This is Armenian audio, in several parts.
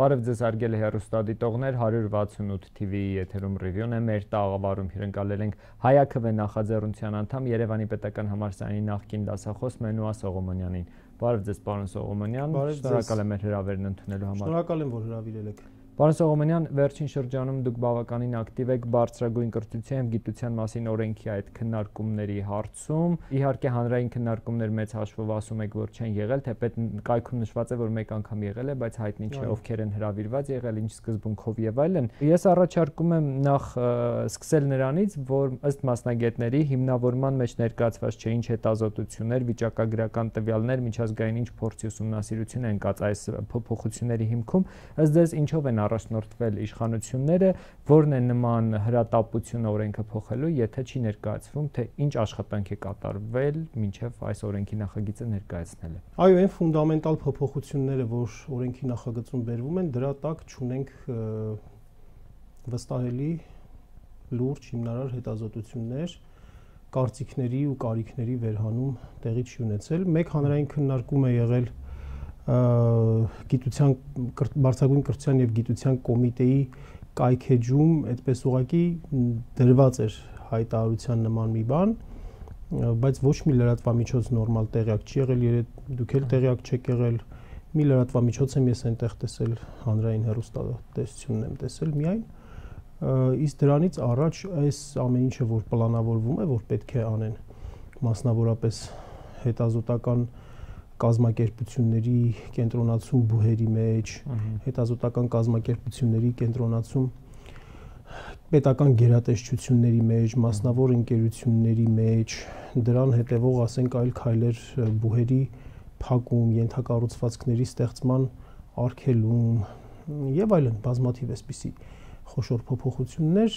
Բարև ձեզ արգել հեռուստադիտողներ, 168 TV-ի եթերում ռիվյուն է, մեր տաղավարում հյուրընկալել ենք Հայաքվե նախաձեռնության անդամ Երևանի պետական համալսարանի նախկին դասախոս Մենուա Սողոմոնյանին։ Բարև ձեզ, պարոն Սողոմոնյան, շնորհակալ եմ մեր հրավերն ընդունելու համար։ Շնորհակալ եմ, որ հրավիրել եք։ Պարոն Սողոմոնյան, վերջին շրջանում դուք բավականին ակտիվ եք բարձրագույն կրթության և գիտության մասին օրենքի այդ քննարկումների հարցում։ Իհարկե հանրային քննարկումներ մեծ հաշվով ասում եք, որ չեն եղել, թեպետ կայքում նշված է, որ մեկ անգամ եղել է, բայց հայտնի չէ ովքեր են հրավիրված եղել, ինչ սկզբունքով եւ այլն։ Ես առաջարկում եմ նախ սկսել նրանից, որ ըստ մասնագետների հիմնավորման մեջ ներկայացված չէ ինչ հետազոտություններ, վիճակագրական տվյալներ, միջազգային ինչ փորձի ուսումնասիրություն են կաց այս փոփոխությունների հիմքում, ըստ ձեզ ինչով են առաջնորդվել իշխանությունները, որն է նման հրատապությունը օրենքը փոխելու, եթե չի ներկայացվում, թե ինչ աշխատանք է կատարվել մինչև այս օրենքի նախագիծը ներկայացնելը։ Այո, այն ֆունդամենտալ փոփոխությունները, որ օրենքի նախագծում բերվում են, դրա տակ չունենք վստահելի լուրջ հիմնարար հետազոտություններ, կարծիքների ու կարիքների վերհանում տեղի չի ունեցել։ Մեկ հանրային քննարկում է եղել գիտության բարձրագույն կրթության եւ գիտության կոմիտեի կայքեջում, այդպես ուղղակի դրված էր հայտարարության նման մի բան, բայց ոչ մի լրատվամիջոց նորմալ տեղյակ չի եղել, դուք էլ տեղյակ չեք եղել։ Մի լրատվամիջոց եմ ես այնտեղ տեսել, հանրային հեռուստատեսությունն եմ տեսել միայն, իսկ դրանից առաջ այս ամեն ինչը, որ պլանավորվում է, որ պետք է անեն, մասնավորապես հետազոտական կազմակերպությունների կենտրոնացում բուհերի մեջ, հետազոտական կազմակերպությունների կենտրոնացում պետական գերատեսչությունների մեջ, մասնավոր ընկերությունների մեջ, դրան հետևող, ասենք, այլ քայլեր բուհերի փակում, ենթակառուցվածքների ստեղծման արգելում եւ այլն, բազմաթիվ էսպիսի խոշոր փոփոխություններ,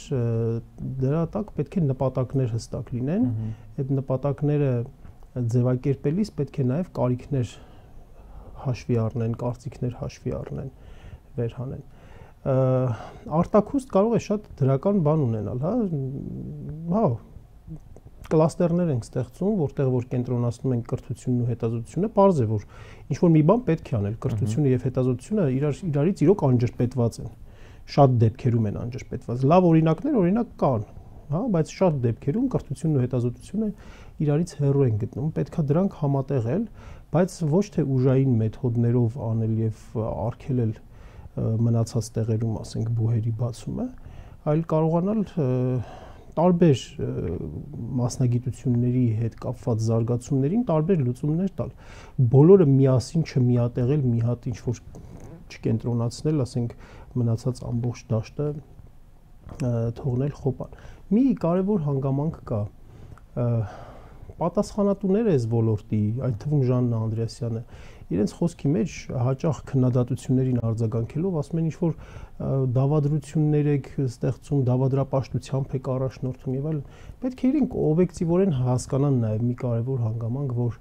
դրա տակ պետք է նպատակներ հստակ լինեն, այդ նպատակները ձևակերպելիս պետք է նաև կարիքներ հաշվի առնեն, կարծիքներ հաշվի առնեն, վերհանեն։ Արտաքուստ կարող է շատ դրական բան ունենալ, հա, կլաստերներ ենք ստեղծում, որտեղ որ կենտրոնացնում ենք կրթությունն ու հետազոտությունը, պարզ է, որ ինչ-որ մի բան պետք է անել, կրթությունը եւ հետազոտությունը իրարից իրոք անջրպետված են, շատ դեպքերում են անջրպետված, լավ օրինակներ օրինակ կան, հա, բայց շատ դեպքերում կրթությունն ու հետազոտությունը իրարից հեռու են գտնում, պետքա դրանք համատեղել, բայց ոչ թե ուժային մեթոդներով անել եւ արգելել մնացած տեղերում, ասենք, բուհերի բացումը, այլ կարողանալ տարբեր մասնագիտությունների հետ կապված զարգացումներին տարբեր լուծումներ տալ։ Բոլորը միասին չմիատեղել, մի հատ ինչ-որ չկենտրոնացնել, ասենք, մնացած ամբողջ դաշտը թողնել խոպան։ Մի կարևոր հանգամանք կա, պատասխանատուները այս ոլորտի, այդ թվում Ժաննա Անդրեասյանը, իրենց խոսքի մեջ հաճախ քննադատություններին արձագանքելով ասում են ինչ-որ դավադրություններ եք ստեղծում, դավադրապաշտությամբ եք առաջնորդում եւ այլն, պետք է իրենք օբյեկտիվորեն հասկանան նաեւ մի կարևոր հանգամանք, որ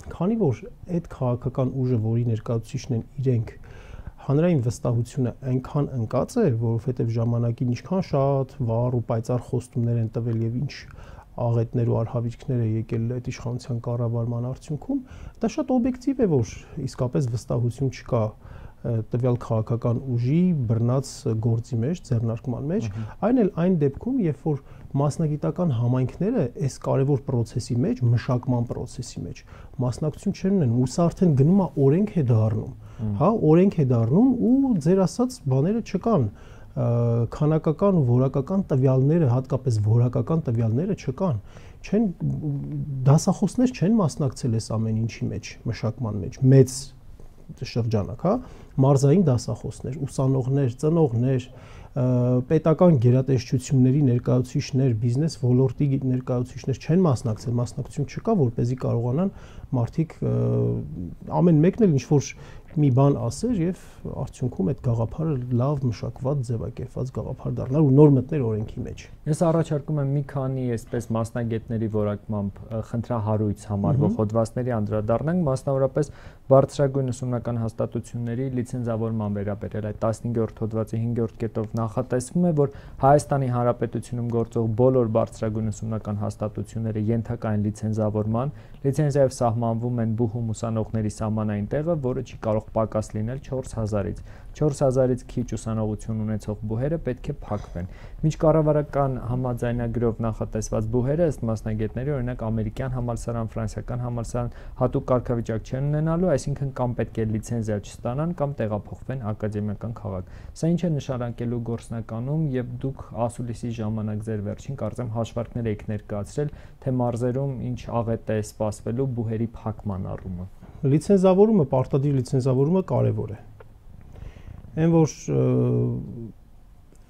քանի որ այդ քաղաքական ուժը, որի ներկայացուցիչն են իրենք, հանրային վստահությունը այնքան ընկած է, որովհետեւ ժամանակին ինչքան շատ վառ ու պայծառ խոստումներ են տվել եւ ինչ աղետներ ու արհավիրքներ է եկել այդ իշխանության կառավարման արդյունքում, դա շատ օբյեկտիվ է, որ իսկապես վստահություն չկա տվյալ քաղաքական ուժի բռնած գործի մեջ, ձեռնարկման մեջ, այն էլ այն դեպքում, երբ որ մասնագիտական համայնքները այս կարևոր process-ի մեջ, մշակման process-ի մեջ մասնակցություն չեն ունենում, ու սա արդեն գնում է օրենք է դառնում, հա, օրենք է դառնում ու ձեր ասած բաները չկան, քանակական ու որակական տվյալները, հատկապես որակական տվյալները չկան, չեն դասախոսներ չեն մասնակցել այս ամեն ինչի մեջ, մշակման մեջ, մեծ շրջանակ, հա, մարզային դասախոսներ, ուսանողներ, ծնողներ, պետական գերատեսչությունների ներկայացուցիչներ, բիզնես ոլորտի ներկայացուցիչներ չեն մասնակցել, մասնակցություն չկա, որպեսզի կարողանան մարդիկ ամեն մեկն էլ ինչ որ մի բան ասեր եւ արդյունքում այդ գաղափարը լավ մշակված, ձևակերպված գաղափար դառնար ու նոր մտներ օրենքի մեջ։ Ես առաջարկում եմ մի քանի այսպես մասնագետների որակմամբ խնդրահարույց համարվող հոդվածների անդրադառնանք, մասնավորապես բարձրագույն ուսումնական հաստատությունների լիցենզավորման վերաբերյալ այդ 15-րդ հոդվածի 5-րդ կետով նախատեսվում է, որ Հայաստանի Հանրապետությունում գործող բոլոր բարձրագույն ուսումնական հաստատությունները ենթակա են լիցենզավորման, Լիցենզիայով սահմանվում են բուհում ուսանողների սահմանային տեղը, որը չի կարող պակաս լինել 4000-ից։ 4000-ից քիչ ուսանողություն ունեցող բուհերը պետք է փակվեն։ Մինչ կառավարական համաձայնագրով նախատեսված բուհերը ըստ մասնագետների, օրինակ ամերիկյան համալսարան, ֆրանսիական համալսարան, հատուկ կարգավիճակ չեն ունենալու, այսինքն կամ պետք է լիցենզիա չստանան, կամ տեղափոխվեն ակադեմիական քաղաք։ Սա ինչ է նշանակելու գործնականում, եւ դուք ասուլիսի ժամանակ ձեր վերջին կարծեմ հաշվարկներ եք ներկայացրել, թե մարզերում ինչ աղետ է սպասվելու բուհերի փակման առումով։ Լիցենզավորումը, պարտադիր լիցենզավորումը կարևոր է։ Այն որ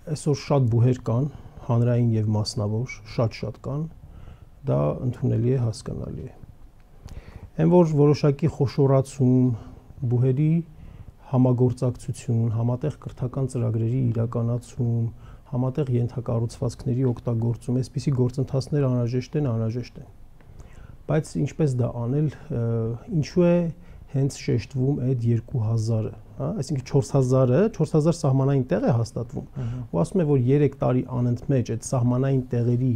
այսօր շատ բուհեր կան, հանրային եւ մասնավոր, շատ կան, դա ընդունելի է, հասկանալի է։ Այն որ որոշակի խոշորացում, բուհերի համագործակցություն, համատեղ կրթական ծրագրերի իրականացում, համատեղ ենթակառուցվածքների օգտագործում, այսպիսի գործընթացներ անհրաժեշտ են։ Բայց ինչպես դա անել, ինչու է հենց շեշտվում այդ 2000-ը, հա, այսինքն 4000 սահմանային տեղ է հաստատվում։ Ու ասում է, որ 3 տարի անընդմեջ այդ սահմանային տեղերի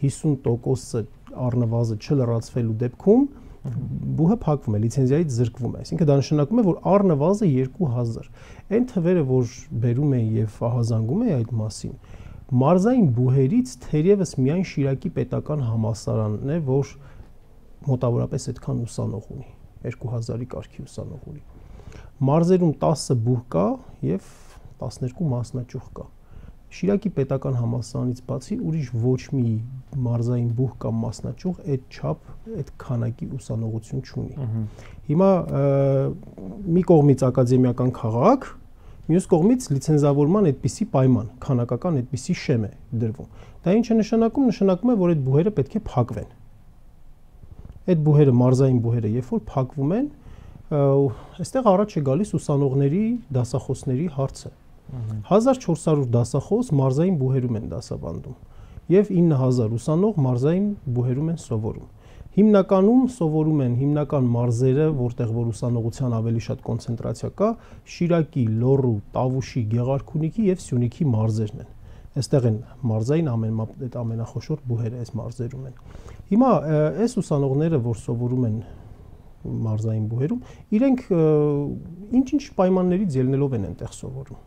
50%-ը առնվազն չլրացվելու դեպքում բուհը փակվում է, լիցենզիայից զրկվում է։ Այսինքն դա նշանակում է, որ առնվազն 2000։ Այն թվերը, որ բերում են եւ ահազանգում են այդ մասին, մարզային բուհերից թերևս միայն Շիրակի պետական համալսարանն է, որ մոտավորապես այդքան ուսանող ունի, 2000-ի կարգի ուսանող ունի։ Մարզերում 10 բուհ կա եւ 12 մասնաճյուղ կա։ Շիրակի պետական համալսարանից բացի ուրիշ ոչ մի մարզային բուհ կամ մասնաճյուղ այդ չափ, այդ քանակի ուսանողություն չունի։ Հիմա մի կողմից ակադեմիական քաղաք, մյուս կողմից լիցենզավորման այդպիսի պայման, քանակական այդպիսի շեմ է դրվում։ Դա ինչ է նշանակում, նշանակում է, որ այդ բուհերը պետք է փակվեն։ Այդ բուհերը, մարզային բուհերը, երբ որ փակվում են, այստեղ առաջ է գալիս ուսանողների, դասախոսների հարցը։ 1400 դասախոս մարզային բուհերում են դասավանդում եւ 9000 ուսանող մարզային բուհերում են սովորում։ Հիմնականում սովորում են հիմնական մարզերը, որտեղ որ ուսանողության ավելի շատ կոնցենտրացիա կա, Շիրակի, Լոռու, Տավուշի, Գեղարքունիքի եւ Սյունիքի մարզերն են։ Այստեղ են մարզային ամենախոշոր բուհերը այս մարզերում են։ Հիմա այս ուսանողները, որ սովորում են մարզային բուհերում, իրենք ինչ-ինչ պայմաններից ելնելով են այնտեղ սովորում։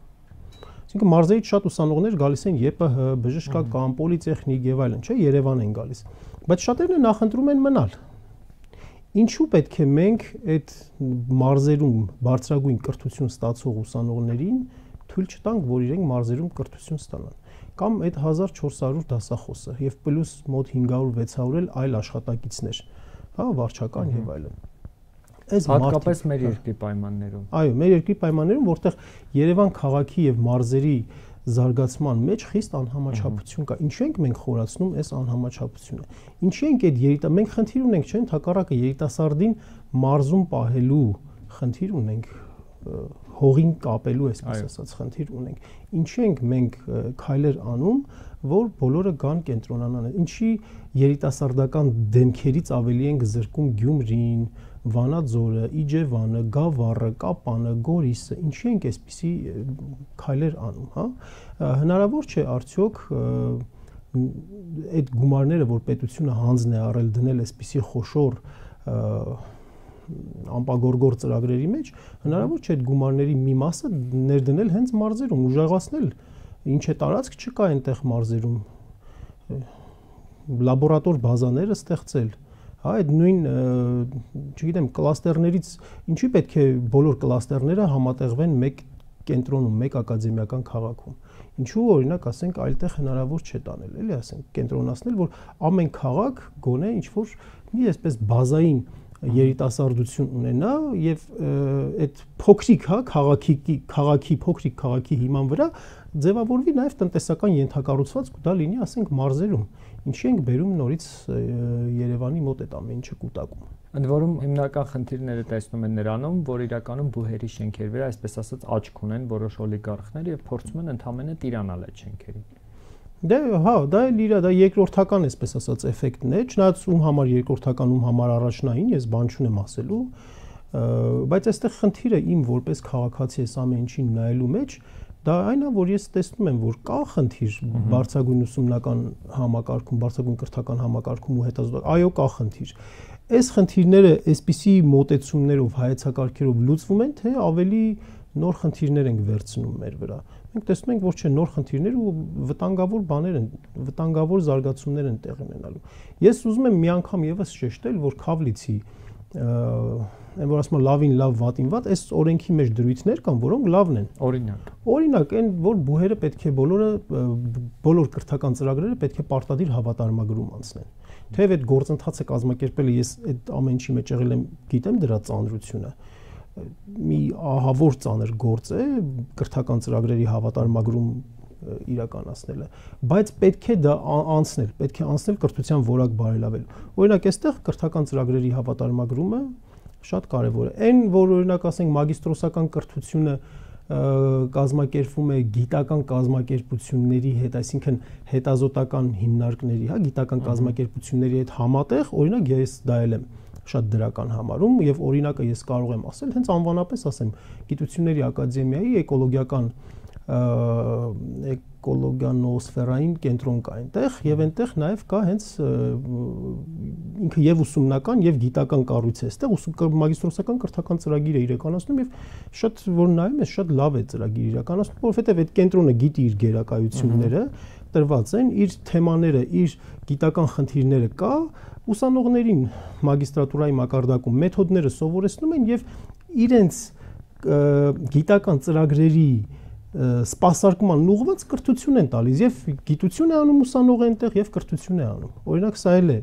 Այսինքն մարզերից շատ ուսանողներ գալիս են ԵՊՀ, բժշկական, պոլիտեխնիկ եւ այլն, չէ, Երևան են գալիս, բայց շատերն նախընտրում են մնալ։ Ինչու պետք է մենք այդ մարզերում բարձրագույն կրթություն ստացող ուսանողներին թույլ չտանք, որ իրենք մարզերում կրթություն ստանան, կամ այդ 1400 դասախոսը եւ պլյուս մոտ 500-600 էլ այլ աշխատակիցներ, հա, վարչական եւ այլն։ Հատկապես մեր երկրի պայմաններում։ Այո, մեր երկրի պայմաններում, որտեղ Երևան քաղաքի եւ մարզերի զարգացման մեջ խիստ անհամաչափություն կա։ Ինչու ենք մենք խորացնում այս անհամաչափությունը։ Ինչու ենք այդ մենք խնդիր ունենք, չէ՞, հակառակը երիտասարդին մարզում պահելու խնդիր ունենք, հողին կապելու, այսպես ասած, խնդիր ունենք։ Ինչու ենք մենք քայլեր անում, որ բոլորը գան կենտրոնանան։ Ինչի երիտասարդական դեմքերից ավելի ենք զրկում Գյումրին, Վանաձորը, Իջևանը, Գավառը, Կապանը, Գորիսը, ինչի ենք այսպիսի քայլեր անում, հա? Հնարավոր չէ արդյոք այդ գումարները, որ պետությունը հանձն է առել դնել այսպիսի խոշոր ամպագորգոր ծրագրերի մեջ, հնարավոր չէ այդ գումարների մի մասը ներդնել հենց մարզերում, ուժեղացնել, ինչ է տարածք չկա այնտեղ մարզերում, լաբորատոր բազաները ստեղծել, հա, այդ նույն, չգիտեմ, կլաստերներից, ինչի պետք է բոլոր կլաստերները համատեղվեն մեկ կենտրոնում, մեկ ակադեմիական քաղաքում։ Ինչու օրինակ ասենք այլտեղ հնարավոր չէ տանել, էլի ասենք կենտրոնացնել, որ ամեն քաղաք գոնե ինչ որ մի այսպես բազային երիտասարդություն ունենա եւ այդ փոքրիկ, հա, քաղաքի փոքրիկ քաղաքի հիման վրա ձևավորվի նաեւ տնտեսական ենթակառուցվածք ու դա լինի, ասենք, մարզերում։ Ինչի ենք բերում նորից Երևանի մոտ այդ ամեն ինչը կուտակում։ Ընդ որում հիմնական խնդիրները տեսնում են նրանում, որ իրականում բուհերի շենքերի վրա, այսպես ասած, աչք ունեն որոշ օլիգարխներ եւ փորձում են ընդհանրապես տիրանալ այդ շենքերին։ Դե հա, դա էլ իր, դա երկրորդական, այսպես ասած, էֆեկտն է, չնայած ում համար երկրորդական, ում համար առաջնային, ես բան չունեմ ասելու, բայց այստեղ խնդիրը իմ որպես քաղաքացի այս ամեն ինչին նայելու մեջ դա այն է, որ ես տեսնում եմ, որ կա խնդիր բարձրագույն ուսումնական համակարգում, բարձրագույն կրթական համակարգում ու հետազոտական, այո, կա խնդիր։ այս խնդիրները այսպիսի մոտեցումներով հայեցակարգերով լուծվում են, թե ավելի նոր խնդիրներ ենք վերցնում մեր վրա։ Մենք տեսնում ենք, որ չէ, նոր խնդիրներ ու վտանգավոր բաներ են, վտանգավոր զարգացումներ են տեղի ունենալու։ Ես ուզում եմ մի անգամ եւս շեշտել, որ Քավլիցի այն որ ասում լավին լավ, վատին վատ, այս օրենքի մեջ դրույթներ կան, որոնք լավն են։ Օրինակ, այն որ բուհերը պետք է բոլոր կրթական ծրագրերը պետք է պարտադիր հավատարմագրում անցնեն։ Թեև այդ գործընթացը կազմակերպելը ես այդ ամեն ինչի մեջ եղել եմ, գիտեմ դրա ծանրությունը։ Մի ահավոր ծանր գործ է կրթական ծրագրերի հավատարմագրում իրականացնելը, բայց պետք է դա անցնել, պետք է անցնել կրթության որակ բարելավելու։ Օրինակ, այստեղ կրթական ծրագրերի հավատարմագրումը շատ կարևոր է։ Այն, որ օրինակ ասենք մագիստրոսական կրթությունը կազմակերպվում է գիտական կազմակերպությունների հետ, այսինքն հետազոտական հիմնարկների, հա, գիտական կազմակերպությունների հետ համատեղ, օրինակ ես դա եմ շատ դրական համարում եւ օրինակը ես կարող եմ ասել, հենց անվանապես ասեմ, Գիտությունների ակադեմիայի էկոլոգիանոսֆերային կենտրոն կա այնտեղ եւ այնտեղ նաեւ կա հենց ինքը եւ ուսումնական եւ գիտական կառույց է, այստեղ մագիստրոսական կրթական ծրագիր է իրականացնում եւ շատ որ նայում ես շատ լավ է ծրագիր իրականացնում, որովհետեւ այդ կենտրոնը գիտի իր գերակայությունները, տրված են իր թեմաները, իր գիտական խնդիրները կա, ուսանողներին մագիստրատուրայի մակարդակում մեթոդները սովորեցնում են եւ իրենց գիտական ծրագրերի սպասարկման ուղղված կրթություն են տալիս եւ գիտություն է անում ուսանողը այնտեղ եւ կրթություն է անում։ Օրինակ սա էլ է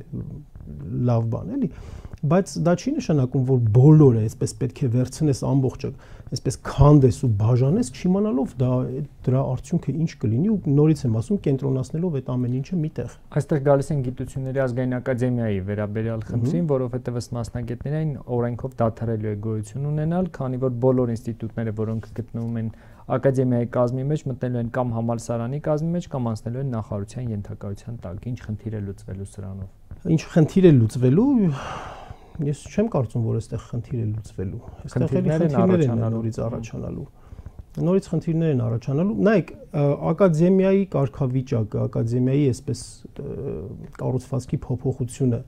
լավ բան, էլի, բայց դա չի նշանակում, որ բոլորը այսպես պետք է վերցնես ամբողջը, այսպես քանդես ու բաժանես, չիմանալով դրա արդյունքը ինչ կլինի ու նորից եմ ասում, կենտրոնացնելով այդ ամեն ինչը միտեղ։ Այստեղ գալիս են Գիտությունների ազգային ակադեմիայի վերաբերյալ խնդրին, որովհետև ըստ մասնագետներին օրենքով դադարելու է գոյություն ունենալ, քանի որ բոլոր ինստիտուտները, որոնք գտնվում են ակադեմիայի կազմի մեջ, մտնելու են կամ համալսարանի կազմի մեջ, կամ անցնելու են նախարարության ենթակայության տակ։ Ինչ խնդիր է լուծվելու սրանով։ Ինչ խնդիր է լուծվելու, ես չեմ կարծում, որ այստեղ խնդիր է լուծվելու։ Այստեղ խնդիրներ են նորից առաջանալու։ Նորից խնդիրներ են առաջանալու։ Նայեք, ակադեմիայի կարգավիճակը, ակադեմիայի այսպես կառուցվածքի փոփոխությունը,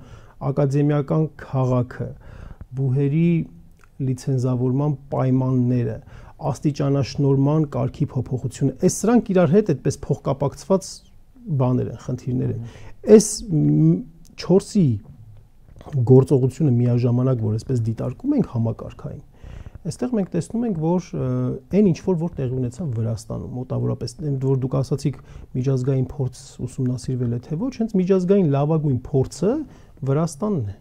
ակադեմիական քաղաքը, բուհերի լիցենզավորման պայմանները, աստիճանաշնորհման կարգի փոփոխությունը, այս սրանք իրար հետ այդպես փոխկապակցված բաներ են, խնդիրներ են։ Այս 4-ի գործողությունը միաժամանակ, որ այսպես դիտարկում ենք համակարգային, այստեղ մենք տեսնում ենք, որ այն ինչ որ տեղի ունեցավ Վրաստանում, մոտավորապես, որ դուք ասացիք միջազգային փորձ ուսումնասիրվել է թե ոչ, հենց միջազգային լավագույն փորձը Վրաստանն է։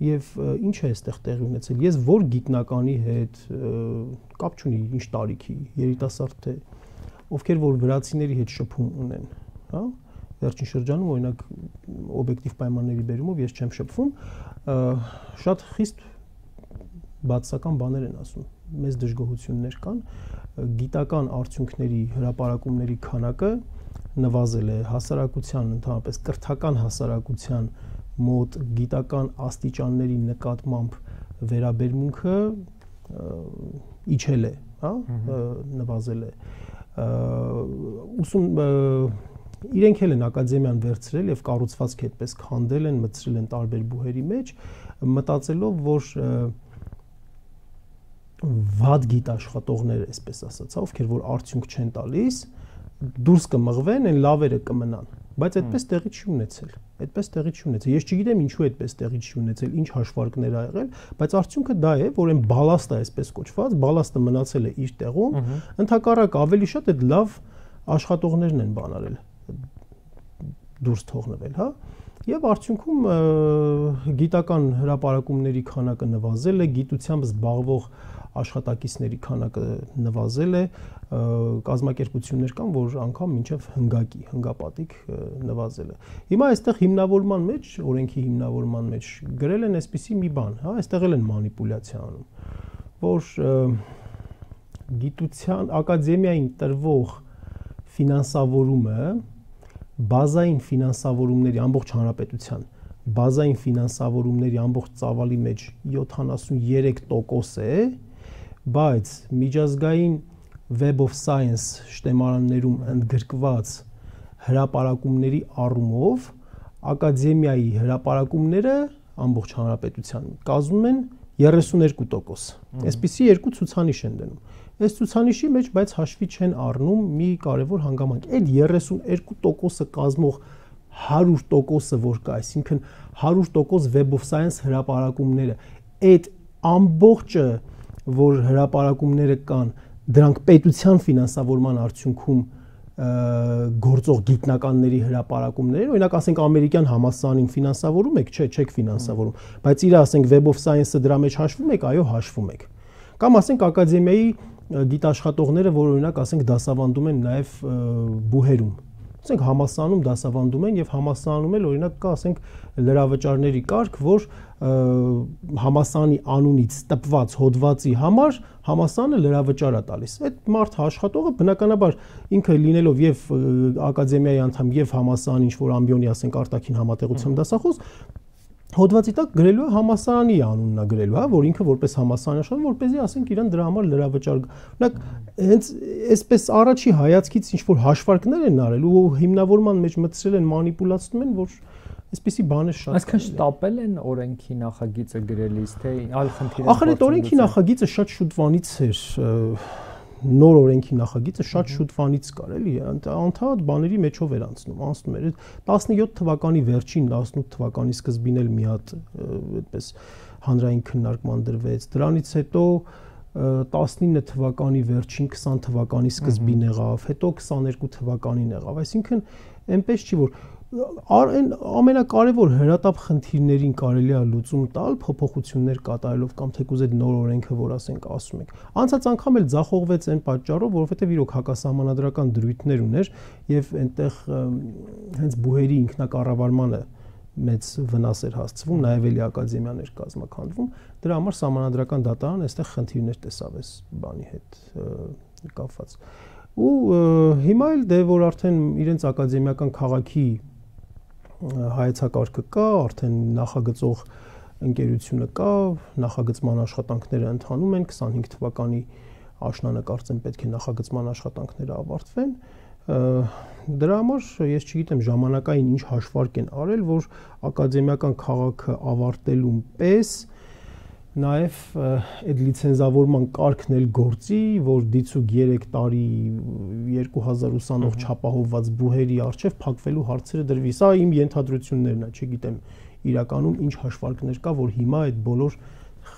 Եվ ինչ է այստեղ տեղի ունեցել։ Ես որ գիտնականի հետ կապ չունի, ինչ տարիքի, երիտասարդ թե ովքեր որ վրացիների հետ շփում ունեն, հա, վերջին շրջանում օրինակ օբյեկտիվ պայմանների բերումով ես չեմ շփվում, շատ խիստ բացասական բաներ են ասում, մեծ դժգոհություններ կան, գիտական արդյունքների հրապարակումների քանակը նվազել է, հասարակության, ընդհանրապես կրթական հասարակության մոտ գիտական աստիճանների նկատմամբ վերաբերմունքը իջել է, հա, նվազել է։ Իրենք էլ են ակադեմիան վերցրել եւ կառուցվածքը այդպես քանդել են, մտցրել են տարբեր բուհերի մեջ, մտածելով, որ վատ գիտաշխատողներ, այսպես ասած, ովքեր որ արդյունք չեն տալիս, դուրս կմղվեն, այն լավերը կմնան, բայց այդպես տեղի չի ունեցել։ Այդպես տեղի չի ունեցել։ Ես չգիտեմ ինչու այդպես տեղի չի ունեցել, ինչ հաշվարկներ ա եղել, բայց արդյունքը դա է, որ այն բալաստը այսպես կոչված, բալաստը մնացել է իր տեղում, ընդհակառակ ավելի շատ այդ լավ աշխատողներն են բանարել դուրս թողնվել, հա։ Եվ արդյունքում գիտական հրապարակումների քանակը նվազել է, գիտությամբ զբաղվող աշխատակիցների քանակը նվազել է, կազմակերպություններ կան, որ անգամ մինչև հնգապատիկ նվազել է։ Հիմա այստեղ հիմնավորման մեջ, օրենքի հիմնավորման մեջ գրել են այսպիսի մի բան, հա, այստեղ էլ են մանիպուլյացիա անում, որ գիտության ակադեմիային տրվող ֆինանսավորումը բազային ֆինանսավորումների ամբողջ հանրապետության բազային ֆինանսավորումների ամբողջ ծավալի մեջ 73% է, բայց միջազգային Web of Science շտեմարաններում ընդգրկված հրապարակումների առումով ակադեմիայի հրապարակումները ամբողջ հանրապետության, կազմում են 32%։ Այսպիսի երկու ցուցանիշ են դնում։ Այս ցուցանիշի մեջ բայց հաշվի չեն առնում մի կարևոր հանգամանք։ Այդ 32%-ը կազմող 100%-ը որ կա, այսինքն 100% Web of Science հրապարակումները, այդ ամբողջը, որ հրապարակումները կան, դրանք պետության ֆինանսավորման արդյունքում գործող գիտնականների հրապարակումներ, օրինակ ասենք ամերիկյան համալսարանին ֆինանսավորում եք, չէ, չեք ֆինանսավորում, բայց իր ասենք Web of Science-ը դրա մեջ հաշվում եք, այո, հաշվում եք։ Կամ ասենք ակադեմիայի գիտաշխատողները, որ օրինակ ասենք դասավանդում են նաև բուհերում, ասենք համալսարանում դասավանդում են եւ համալսարանում էլ օրինակ կա ասենք լրավճարների կարգ, որ համալսարանի անունից տպված հոդվածի համար համալսարանը լրավճար է տալիս։ Այդ մարդ աշխատողը բնականաբար ինքը լինելով եւ ակադեմիայի անդամ եւ համալսարանի ինչ որ ամբիոնի ասենք արտաքին համատեղությամբ դասախոս հոդվածի տակ գրելու է համալսարանի անունն է գրելու, հա, որ ինքը որպես համալսարան աշխատում, որպեսզի ասենք իրան դրա համար լրավճար։ Օրինակ հենց այսպես առաջի հայացքից ինչ որ հաշվարկներ են արել ու հիմնավորման մեջ մտցրել են մանիպուլացնում են, որ այսպիսի բաներ շատ։ Այսինքն շտապել են օրենքի նախագիծը գրելիս, թե այլ խնդիրներ։ Ախր այդ օրենքի նախագիծը շատ շուտվանից էր, նոր օրենքի նախագիծը շատ շուտվանից կար, էլի, անդադ բաների մեջով էր անցնում էր։ 17 թվականի վերջին, 18 թվականի սկզբին էլ մի հատ այդպես հանրային քննարկման դրվեց։ Դրանից հետո 19 թվականի վերջին, 20 թվականի սկզբին եղավ, հետո 22 թվականին եղավ։ Այսինքն այնպես չի որ ամենակարևոր հրատապ խնդիրներին կարելի է լուծում տալ փոփոխություններ կատարելով կամ թեկուզ այդ նոր օրենքը, որ ասենք ասում եք։ Անցած անգամ էլ ձախողվեց այն պատճառով, որովհետև իրոք հակասահմանադրական դրույթներ ուներ եւ այնտեղ հենց բուհերի ինքնակառավարմանը մեծ վնաս էր հասցվում, նաեւ էլի ակադեմիաներ կազմակերպվում։ Դրա համար սահմանադրական դատարան այստեղ խնդիրներ տեսավ այս բանի հետ կապված։ Ու հիմա էլ դե որ արդեն իրենց ակադեմիական քաղաքի հայեցակարգը կա, արդեն նախագծող ընկերությունը կա, նախագծման աշխատանքները ընթանում են, 25 թվականի աշնանը կարծեմ պետք է նախագծման աշխատանքները ավարտվեն։ Դրա համար ես չգիտեմ ժամանակային ինչ հաշվարկ են արել, որ ակադեմիական քաղաքը ավարտելուն պես նաև այդ լիցենզավորման կարգն էլ գործի, որ դիցուկ 3 տարի 2000 ուսանող չապահովված բուհերի առջև փակվելու հարցերը դրվի։ Սա իմ ենթադրություններն է, չգիտեմ իրականում ինչ հաշվարկներ կա, որ հիմա այդ բոլոր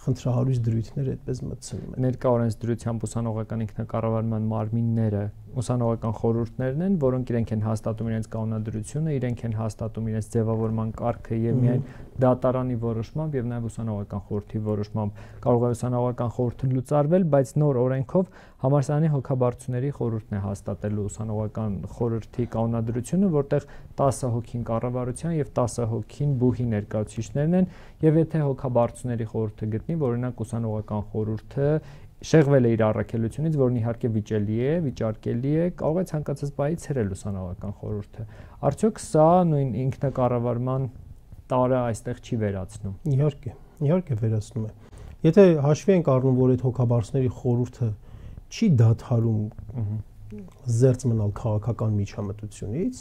խնդրահարույց դրույթները այդպես մտցնում են։ Ներկա օրենսդրությամբ ուսանողական ինքնակառավարման մարմինները ուսանողական խորհուրդներն են, որոնք իրենք են հաստատում իրենց կանոնադրությունը, իրենք են հաստատում իրենց ձևավորման կարգը եւ միայն դատարանի որոշմամբ եւ նաեւ ուսանողական խորհրդի որոշմամբ կարող է ուսանողական խորհուրդը լուծարվել, բայց նոր օրենքով համալսարանի հոգաբարձուների խորհուրդն է հաստատելու ուսանողական խորհրդի կանոնադրությունը, որտեղ 10 հոգին կառավարության եւ 10 հոգին բուհի ներկայացուցիչներն են, եւ եթե հոգաբարձուների խորհուրդը գտնի, որ օրինակ ուսանողական խորհուրդը շեղվել է իր առաքելությունից, որն իհարկե վիճելի է, վիճարկելի է, կարող է ցանկացած բայի ցրել ուսանողական խորհուրդը։ Արդյոք սա նույն ինքնակառավարման տարը այստեղ չի վերացնում։ Իհարկե վերացնում է։ Եթե հաշվի ենք առնում, որ այդ հոգաբարձուների խորհուրդը չի դադարում զերծ մնալ քաղաքական միջամտությունից,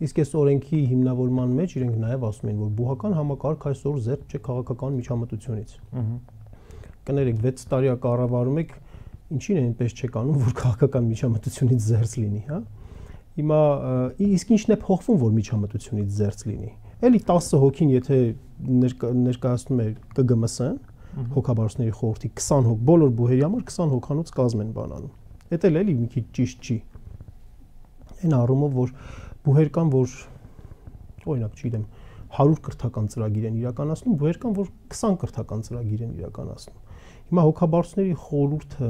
իսկ այս օրենքի հիմնավորման մեջ իրենք նաև ասում են, որ բուհական համակարգ այսօր զերծ չէ քաղաքական միջամտությունից։ Կներեք 6 տարի կառավարում եք, ինչին է այնպես չեք անում, որ քաղաքական միջամտությունից զերծ լինի, հա։ Հիմա իսկ ինչն է փոխվում, որ միջամտությունից զերծ լինի։ Էլի 10 հոգին եթե ներկայացնում է ԿԳՄՍ-ն, հոգաբարձուների խորհրդի 20 հոգ, բոլոր բուհերի համար 20 հոգանոց կազմ են բանանում։ Դա էլ էլի մի քիչ ճիշտ չի։ Այն առումով, որ բուհեր կան, որ օրինակ, չգիտեմ, 100 կրթական ծրագիր են իրականացնում, բուհեր կան, որ 20 կրթական ծրագիր են իրականացնում։ Հիմա հոգաբարձուների խորհուրդը,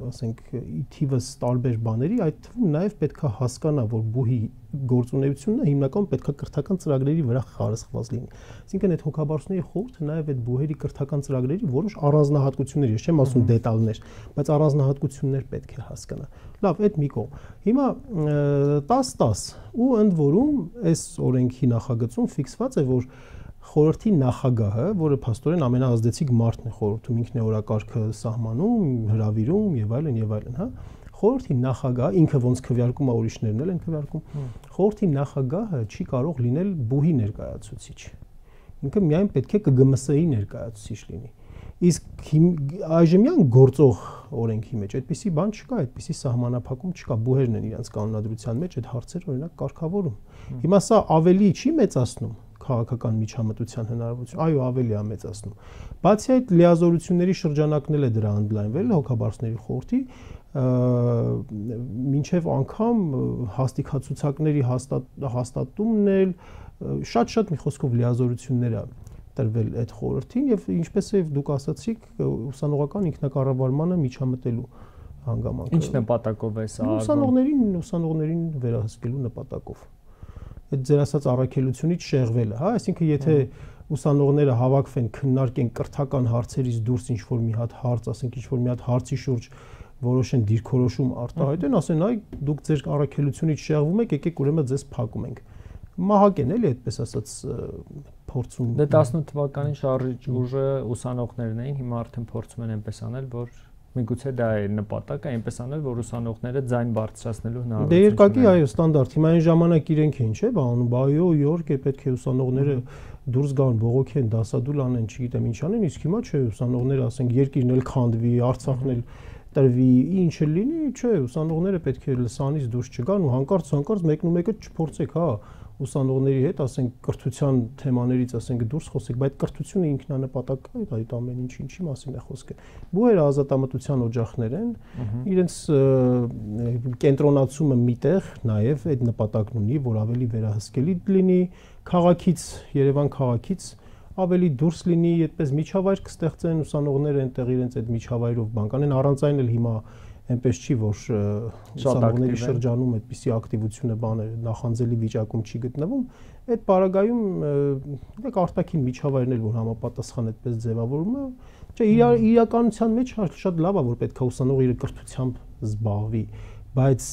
ասենք, թիվս տարբեր բաների, այդ թվում նաև պետք է հասկանա, որ բուհի գործունեությունը հիմնականում պետք է կրթական ծրագրերի վրա խարսխված լինի։ Այսինքն այդ հոգաբարձուների խորհուրդը նաև այդ բուհերի կրթական ծրագրերի որոշ առանձնահատկություններ, ես չեմ ասում դետալներ, բայց առանձնահատկություններ պետք է հասկանա։ Լավ, այդ մի կողմ։ Հիմա 10-10 ու ընդ որում այս օրենքի նախագծում ֆիքսված է, որ խորհրդի նախագահը, որը փաստորեն ամենաազդեցիկ մարդն է խորհրդում, ինքն է օրակարգը սահմանում, հրավիրում եւ այլն, հա։ Խորհրդի նախագահը ինքը ոնց քվեարկում է, ուրիշներն էլ են քվեարկում։ Խորհրդի նախագահը չի կարող լինել բուհի ներկայացուցիչ։ ինքը միայն պետք է ԿԳՄՍ-ի ներկայացուցիչ լինի։ Իսկ այժմյան գործող օրենքի մեջ այդպիսի բան չկա, այդպիսի սահմանափակում չկա, բուհերն են իրենց կանոնադրության մեջ այդ հարցերը օրինակ կարգավորում։ Հիմա սա ավելի չի մեծացնում քաղաքական միջամտության հնարավորություն, այո, ավելի է մեծացնում։ Բացի այդ լիազորությունների շրջանակն էլ է դրա ընդլայնվել հոգաբարձների խորհրդի, մինչև անգամ հաստիքացուցակների հաստատումն էլ շատ մի խոսքով լիազորություններ է տրվել այդ խորհրդին եւ ինչպես է դուք ասացիք ուսանողական ինքնակառավարմանը միջամտելու հանգամանքը։ Ինչ նպատակով է սա ուսանողներին վերահսկելու նպատակով։ Այդ ձեր ասած առաքելությունից շեղվելը, հա, այսինքն եթե ուսանողները հավաքվեն, քննարկեն կրթական հարցերից դուրս ինչ-որ մի հատ հարց, ասենք ինչ-որ մի հատ հարցի շուրջ որոշեն դիրքորոշում արտահայտեն, ասեն, այ դուք ձեր առաքելությունից շեղվում եք, եկեք ուրեմն ձեզ փակում ենք։ Մահակ են էլի այդպես ասած փորձում։ Դե 18 թվականին շարժիչ ուժը ուսանողներն էին, հիմա արդեն փորձում են այնպես անել, որ միգուցե դա է նպատակը, այնպես անել, որ ուսանողները ձայն բարձրացնելու հնարավորություն ունենան։ Դե երկակի այո, ստանդարտ։ Հիմա այն ժամանակ իրենք էին, չէ՞, բանում, բայո, իհարկե պետք է ուսանողները դուրս գան, բողոքեն, դասադուլ անեն, չգիտեմ ինչ անեն, իսկ հիմա չէ, ուսանողները ասենք երկիրն էլ քանդվի, Արցախն էլ տրվի, ինչը լինի, չէ, ուսանողները պետք է լսանից դուրս չգան ու հանկարծ մեկնումեկը չփորձեք, հա, ուսանողների հետ, ասենք կրթության թեմաներից, ասենք դուրս խոսեք, բայց կրթությունը ինքնանպատակ է, այդ ամեն ինչի մասին է խոսքը։ Բուհերը ազատամտության օջախներ են, իրենց կենտրոնացումը միտեղ նաև այդ նպատակն ունի, որ ավելի վերահսկելի լինի քաղաքից, Երևան քաղաքից ավելի դուրս լինի, այդպես միջավայր կստեղծեն ուսանողները այնտեղ իրենց այդ միջավայրով բան կանեն, առանց այն էլ հիմա այնպես չի, որ ուսանողների շրջանում այդպիսի ակտիվությունը բաներ նախանձելի վիճակում չի գտնվում, այդ պարագայում դեք արտաքին միջավայրն էլ որ համապատասխան այդպես ձևավորում է, չէ, իրականության մեջ շատ լավ է, որ պետք է ուսանողը իր կրթությամբ զբաղվի, բայց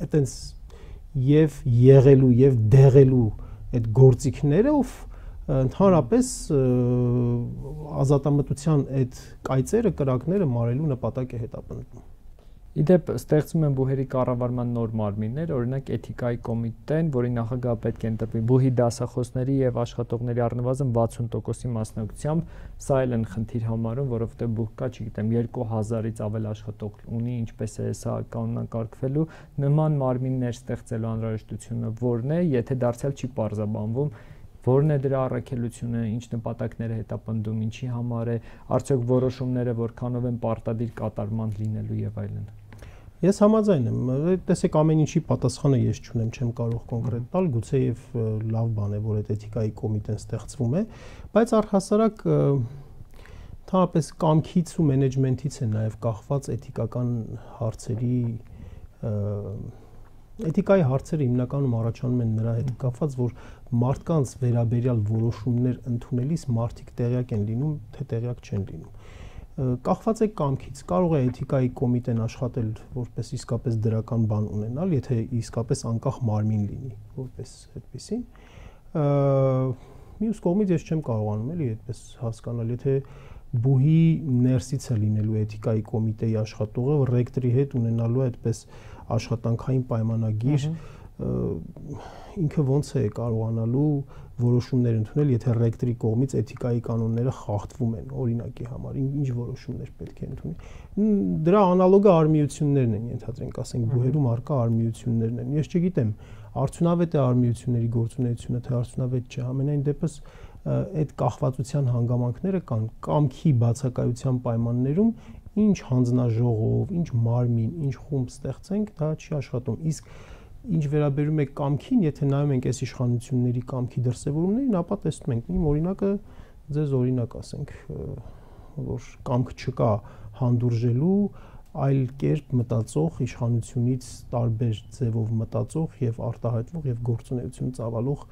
այտենց եւ եղելու եւ դեղելու այդ գործիքներով ընդհանրապես ազատամտության այդ կայծերը, կրակները մարելու նպատակ է հետապնդում։ Իդեպ ստեղծում են բուհերի կառավարման նոր մարմիններ, օրինակ էթիկայի կոմիտեն, որի նախագահը պետք է ընտրվի բուհի դասախոսների եւ աշխատողների առնվազն 60%-ի մասնակցությամբ, սա էլ են խնդիր համարում, որովհետեւ բուհ կա, չգիտեմ, 2000-ից ավել աշխատող ունի, ինչպես է սա կանոնակարգվելու, նման մարմիններ ստեղծելու անհրաժեշտությունը որն է, եթե դարձյալ չի պարզաբանվում որն է դրա առաքելությունը, ինչ նպատակներ է հետապնդում, ինչի համար է, արդյոք որոշումները որքանով են պարտադիր կատարման լինելու եւ այլն։ Ես համաձայն եմ, տեսեք ամեն ինչի պատասխանը ես չունեմ, չեմ կարող կոնկրետ տալ, գուցե եւ լավ բան է, որ այդ էթիկայի կոմիտեն ստեղծվում է, բայց առհասարակ ընդհանրապես կամքից ու մենեջմենթից է նաեւ կախված էթիկական հարցերի Էթիկայի հարցերը հիմնականում առաջանում են նրա հետ կապված, որ մարդկանց վերաբերյալ որոշումներ ընդունելիս մարդիկ տեղյակ են լինում, թե տեղյակ չեն լինում։ Կախված է կամքից, կարող է էթիկայի կոմիտեն աշխատել որպես իսկապես դրական բան ունենալ, եթե իսկապես անկախ մարմին լինի, որպես այդպեսին։ Մյուս կողմից ես չեմ կարողանում էլի այդպես հասկանալ, եթե բուհի ներսից է լինելու էթիկայի կոմիտեի աշխատողը, ռեկտորի հետ ունենալու այդպես աշխատանքային պայմանագիր, ինքը ոնց է կարողանալու որոշումներ ընդունել, եթե ռեկտորի կողմից էթիկայի կանոնները խախտվում են, օրինակի համար, ինչ որոշումներ պետք է ընդունի։ Դրա անալոգը արմիություններն են, ենթադրենք, ասենք բուհերում արկա արմիություններն են։ Ես չգիտեմ, արդյունավետ է արմիությունների գործունեությունը, թե արդյունավետ չէ, ամենայն դեպս այդ կախվածության հանգամանքները կան կամքի բացակայության պայմաններում ինչ հանձնաժողով, ինչ մարմին, ինչ խումբ ստեղծենք, դա չի աշխատում։ Իսկ ինչ վերաբերում է կամքին, եթե նայում ենք այս իշխանությունների կամքի դրսևորումներին, ապա տեսնում ենք իմ օրինակը ձեզ օրինակ ասենք, որ կամք չկա հանդուրժելու այլ կերպ մտածող իշխանությունից տարբեր ձևով մտածող եւ արտահայտվող եւ գործունեություն ծավալող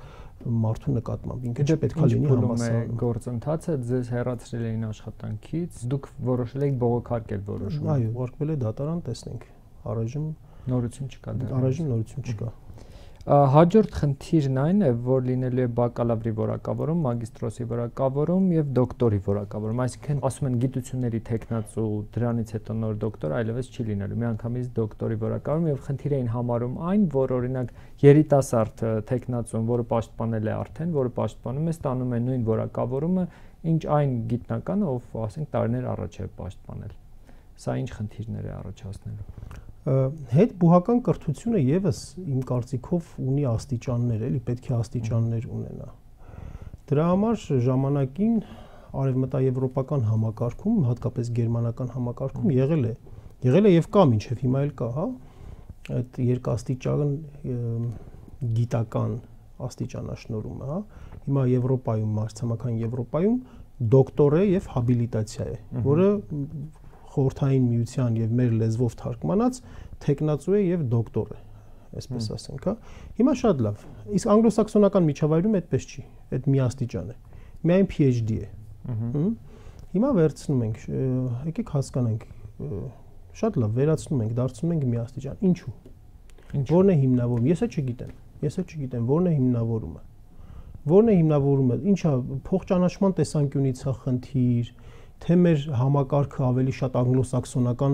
մարդու նկատմամբ ինքը չպետք է լինի համասարում։ Գործընթացը ձեզ հեռացրել էին աշխատանքից, դուք որոշել եք բողոքարկել որոշումը։ Այո, ուղարկվել է դատարան, տեսնենք։ Առայժմ նորություն չկա դեռ։ Առայժմ նորություն չկա։ Հաջորդ խնդիրն այն է, որ լինելու է բակալավրի որակավորում, մագիստրոսի որակավորում եւ դոկտորի որակավորում, այսինքն ասում են գիտությունների տեխնացու, դրանից հետո նոր դոկտոր այլևս չի լինելու, միանգամից դոկտորի որակավորում եւ խնդիր էին համարում այն, որ օրինակ երիտասարդ տեխնացուն, որը պաշտպանել է արդեն, որը պաշտպանում է, ստանում է նույն որակավորումը, ինչ այն գիտնականը, ով ասենք տարիներ առաջ է պաշտպանել։ Սա ինչ խնդիրներ է առաջացնելու։ Հետ բուհական կրթությունը եւս իմ կարծիքով ունի աստիճաններ, էլի պետք է աստիճաններ ունենա։ Դրա համար ժամանակին արևմտաեվրոպական համակարգում, հատկապես գերմանական համակարգում եղել է եւ կա մինչեւ հիմա էլ կա, հա, այդ երկաստիճան գիտական աստիճանաշնորհումը, հա։ Հիմա Եվրոպայում, մարտհամական Եվրոպայում դոկտոր է եւ հաբիլիտացիա է, որը խորհրդային միության եւ մեր լեզվով թարգմանած տեխնացու է եւ դոկտոր է, այսպես ասենք, հա։ Հիմա շատ լավ։ Իսկ անգլոսաքսոնական միջավայրում այդպես չի, այդ միաստիճան է։ Միայն PhD է։ Հիմա վերցնում ենք, եկեք հասկանանք, շատ լավ, վերացնում ենք, դարձնում ենք միաստիճան։ Ինչու՞։ Որն է հիմնավորումը։ Ես չգիտեմ, որն է հիմնավորումը։ Որն է հիմնավորումը։ Ինչա փոխճանաչման տեսանկյունից է խնդիր, թե մեր համակարգը ավելի շատ անգլոսաքսոնական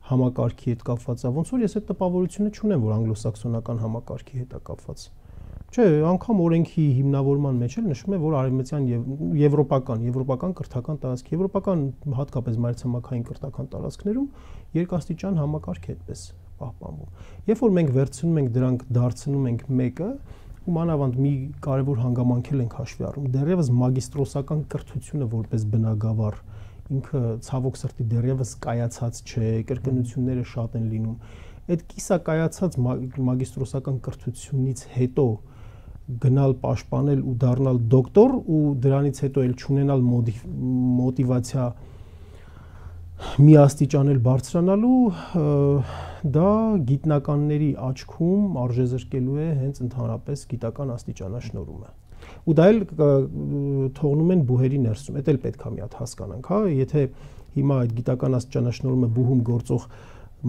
համակարգի հետ կապված է, ոնց որ ես այդ տպավորությունը չունեմ, որ անգլոսաքսոնական համակարգի հետ է կապված։ Չէ, անգամ օրենքի հիմնավորման մեջ էլ նշվում է, որ արևմտյան եվրոպական կրթական տարածք, եվրոպական հատկապես մայրցամաքային կրթական տարածքներում երկաստիճան համակարգ է այդպես պահպանվում։ Երբ որ մենք վերցնում ենք դրանք, դարձնում ենք մեկը, ու մանավանդ մի կարևոր հանգամանք ենք հաշվի առնում, դեռևս մագիստրոսական կրթությունը որպես բնագավառ ինքը ցավոք սրտի դեռևս կայացած չէ, կրկնությունները շատ են լինում։ Այդ կիսակայացած մագիստրոսական կրթությունից հետո գնալ պաշտպանել ու դառնալ դոկտոր ու դրանից հետո էլ չունենալ մոտիվացիա միաստիճանել բարձրանալու, դա գիտնականների աչքում արժեզրկելու է հենց ընդհանրապես գիտական աստիճանաշնորհումը։ Ու դա էլ թողնում են բուհերի ներսում, դա էլ պետք է մի հատ հասկանանք, հա, եթե հիմա այդ գիտական աստիճանաշնորհումը բուհում գործող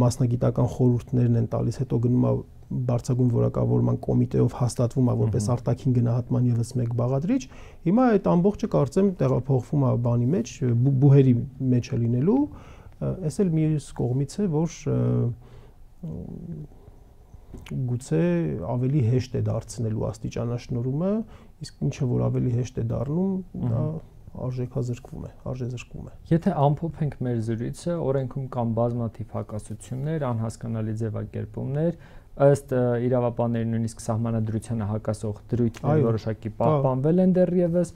մասնագիտական խորհուրդներն են տալիս, հետո գնում է բարձրագույն որակավորման կոմիտեով հաստատվում է որպես արտաքին գնահատման եւս մեկ բաղադրիչ, հիմա այդ ամբողջը կարծեմ տեղափոխվում է բանի մեջ, բուհերի մեջ է լինելու, այս էլ մյուս կողմից է, որ գուցե ավելի հեշտ է դարձնելու աստիճանաշնորհումը, իսկ ինչը որ ավելի հեշտ է դառնում, դա արժեզրկվում է։ Եթե ամփոփենք մեր զրույցը, օրենքում կան բազմաթիվ հակասություններ, անհասկանալի ձևակերպումներ, ըստ իրավաբանների նույնիսկ սահմանադրությանը հակասող դրույթներ որոշակի պահպանվել են դեռևս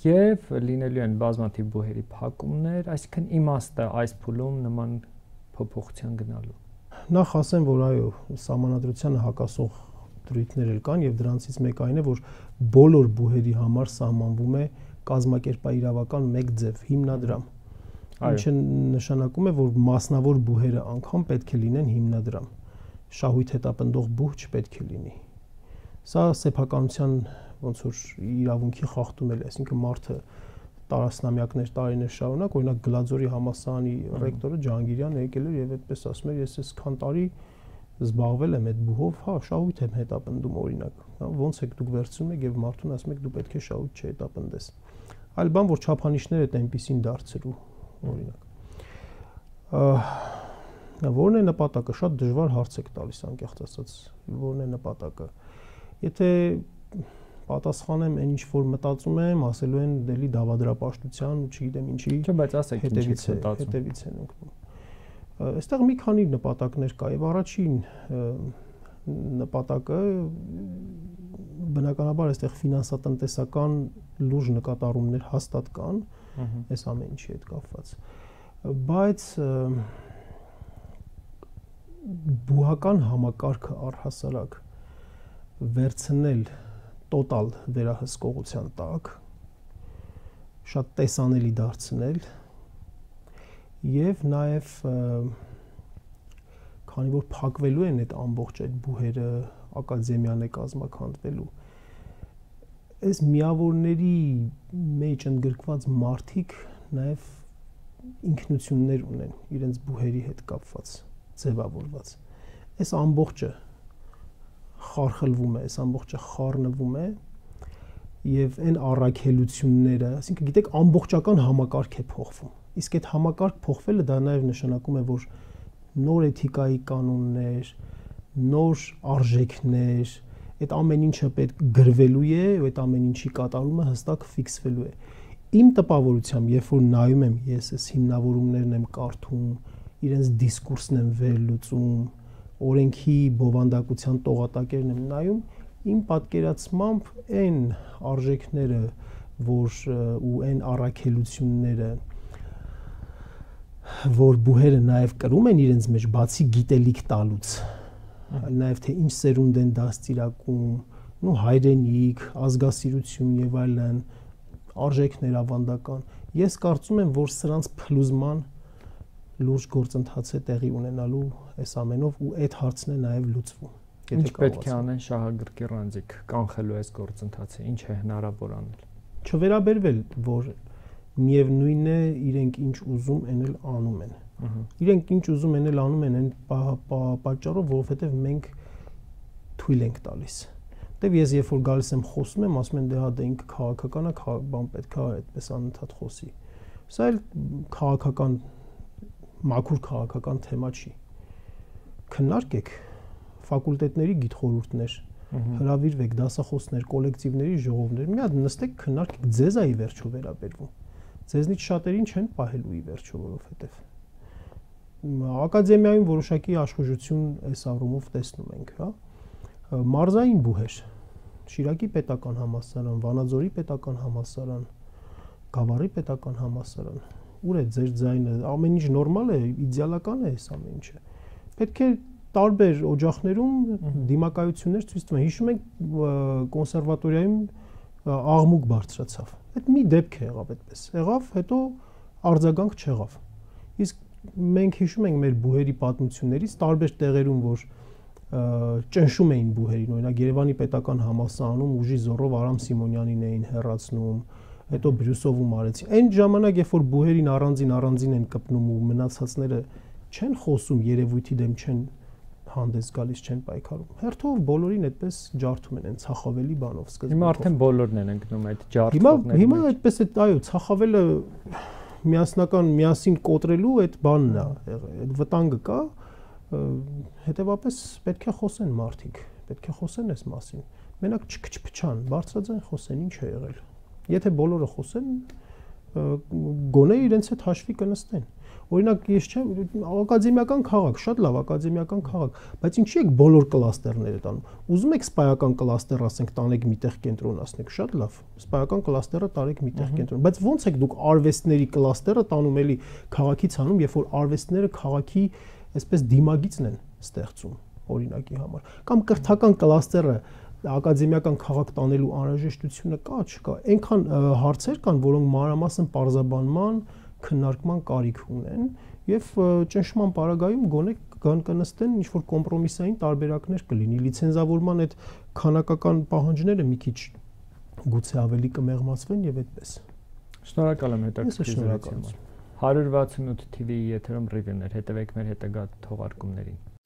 եւ լինելու են բազմաթիվ բուհերի փակումներ, այսինքն իմաստը այս փուլում նման փոփոխության գնալու։ Նախ ասեմ, որ այո, սահմանադրությանը հակասող դրույթներ էլ կան եւ դրանցից մեկը այն է, որ բոլոր բուհերի համար սահմանվում է կազմակերպաիրավական մեկ ձև հիմնադրամ, ինչը նշանակում է, որ մասնավոր բուհերը անգամ պետք է լինեն հիմնադրամ, շահույթ հետապնդող բուհ չպետք է լինի։ Սա սեփականության ոնց որ իրավունքի խախտում է, այսինքն մարդը տարածնամյակներ տարիներ շարունակ, օրինակ Գլաձորի համալսարանի ռեկտորը Ջահանգիրյանը եկել էր եւ այդպես ասում էր, ես այսքան տարի զբաղվել եմ այդ բուհով, հա, շահույթ եմ հետապնդում օրինակ, հա, ոնց եք դուք վերցնում եք եւ մարդուն ասում եք դու պետք է շահույթ չհետապնդես։ Այլ բան, որ չափանիշները այդ այնպեսին դարձրու, օրինակ։ Որն է նպատակը, շատ դժվար հարց եք տալիս անկեղծ ասած, որն է նպատակը։ Եթե պատասխանեմ այն ինչ որ մտածում եմ, ասելու են դելի դավադրապաշտության ու չգիտեմ ինչի։ Չէ, բայց ասեք ինչից հետևից են ընկնում։ Այստեղ մի քանի նպատակներ կա եւ առաջին նպատակը բնականաբար այստեղ ֆինանսատնտեսական լուրջ նկատառումներ հաստատ կան, այս ամեն ինչի հետ կապված։ Բայց բուհական համակարգը առհասարակ վերցնել տոտալ վերահսկողության տակ, շատ տեսանելի դարձնել եւ նաեւ քանի որ փակվելու են այդ ամբողջ այդ բուհերը, ակադեմիան է կազմակերպվելու, այս միավորների մեջ ընդգրկված մարդիկ նաեւ ինքնություններ ունեն իրենց բուհերի հետ կապված, ձևավորված։ Այս ամբողջը խարխլվում է, այս ամբողջը խառնվում է եւ այն առաքելությունները, այսինքն գիտեք, ամբողջական համակարգ է փոխվում։ Իսկ այդ համակարգ փոխվելը դա նաեւ նշանակում է, որ նոր էթիկայի կանոններ, նոր արժեքներ, այդ ամեն ինչը պետք գրվելու է, այդ ամեն ինչի կատարումը հստակ ֆիքսվելու է։ Իմ տպավորությամբ, երբ որ նայում եմ ես այս հիմնավորումներն եմ կարդում, իրենց դիսկուրսն եմ վերլուծում, օրենքի բովանդակության տողատակերն եմ նայում, իմ պատկերացմամբ այն արժեքները, որ ու այն առաքելությունները, որ բուհերը նաև կրում են իրենց մեջ, բացի գիտելիք տալուց, նաև թե ինչ սերունդ են դաստիարակում, ու հայրենիք, ազգասիրություն եւ այլն, արժեքներ ավանդական։ Ես կարծում եմ, որ սրանց փլուզման լուրջ գործընթաց է տեղի ունենալու այս ամենով ու այդ հարցն է նաև լուծվում։ Ինչ պետք է անեն շահագրգիռ անձիկ կանխելու այս գործընթացը, ինչ է հնարավոր անել։ Չվերաբերվել, որ միևնույնն է, իրենք ինչ ուզում են էլ անում են։ Իրենք ինչ ուզում են էլ անում են այն պատճառով, որովհետև մենք թույլ ենք տալիս։ Դե ես երբ որ գալիս եմ խոսում եմ, ասում են դե հա դա ինքը քաղաքական է, բան պետք է այդպես անընդհատ խոսի։ Սա էլ քաղաքական մաքուր քաղաքական թեմա չի։ Քննարկեք ֆակուլտետների գիտխորհուրդներ, հրավիրվեք դասախոսներ, կոլեկտիվների ժողովներ, մի հատ նստեք քննարկեք, ձեզ է ի վերջո վերաբերվում։ Ձեզնից շատերին չեն պահելու ի վերջո, որովհետև ակադեմիայում որոշակի աշխուժություն այս առումով տեսնում ենք, հա։ Մարզային բուհեր, Շիրակի պետական համալսարան, Վանաձորի պետական համալսարան, Գավառի պետական համալսարան, ուր է ձեր ձայնը, ամեն ինչ նորմալ է, իդեալական է այս ամեն ինչը։ Պետք է տարբեր օջախներում դիմակայություններ ցույց տվեն։ Հիշում եք կոնսերվատորիայում աղմուկ բարձրացավ։ Այդ մի դեպք է եղավ այդպես։ Եղավ, հետո արձագանք չեղավ։ Իսկ մենք հիշում ենք մեր բուհերի պատմություններից տարբեր տեղերում, որ ճնշում էին բուհերին, օրինակ Երևանի պետական համալսարանում ուժի զորով Արամ Սիմոնյանին էին հեռացնում, հետո Բրյուսովում արեցին։ Այն ժամանակ, երբ որ բուհերին առանձին են կպնում ու մնացածները չեն խոսում, երևույթի դեմ չեն հանդես գալիս, չեն պայքարում։ Հերթով բոլորին այդպես ջարդում են ցախավելի բանով սկզբում։ Հիմա արդեն բոլորն են ընկնում այդ ջարդողները։ Հիմա այդպես է, այո, ցախավելը միասին կոտրելու այդ բանն է, այդ վտանգը կա, հետևաբար պետք է խոսեն մարդիկ, պետք է խոսեն այս մասին։ Մենակ չփչփչան, բարձրաձայն խոսեն, ինչ է եղել։ Եթե բոլորը խոսեն, գոնե իրենց հետ հաշվի կնստեն։ Օրինակ, ես չեմ, ակադեմիական քաղաք, շատ լավ ակադեմիական քաղաք, բայց ինչի եք բոլոր կլաստերները տանում։ Ուզում եք սպայական կլաստեր, ասենք, տանեք միտեղ կենտրոնացնեք, շատ լավ։ Սպայական կլաստերը տարեք միտեղ կենտրոն, բայց ո՞նց եք դուք արվեստների կլաստերը տանում էլի քաղաքից հանում, երբ որ արվեստները քաղաքի այսպես դիմագիծն են ստեղծում, օրինակի համար։ Կամ կրթական կլաստերը ակադեմիական քաղաք տանելու անհրաժեշտությունը կա, չկա։ Այնքան հարցեր կան, որոնք մանրամասն պարզաբանման, քննարկման կարիք ունեն եւ ճնշման պարագայում գոնե կնստեն ինչ որ կոմպրոմիսային տարբերակներ կլինի, լիցենզավորման այդ քանակական պահանջները մի քիչ գուցե ավելի կմեղմացվեն եւ այդպես։ Շնորհակալ եմ հետաքրքրությունից։ 168 TV-ի եթերում ռիվյուներ, հետևեք մեր հետագա թողարկումներին։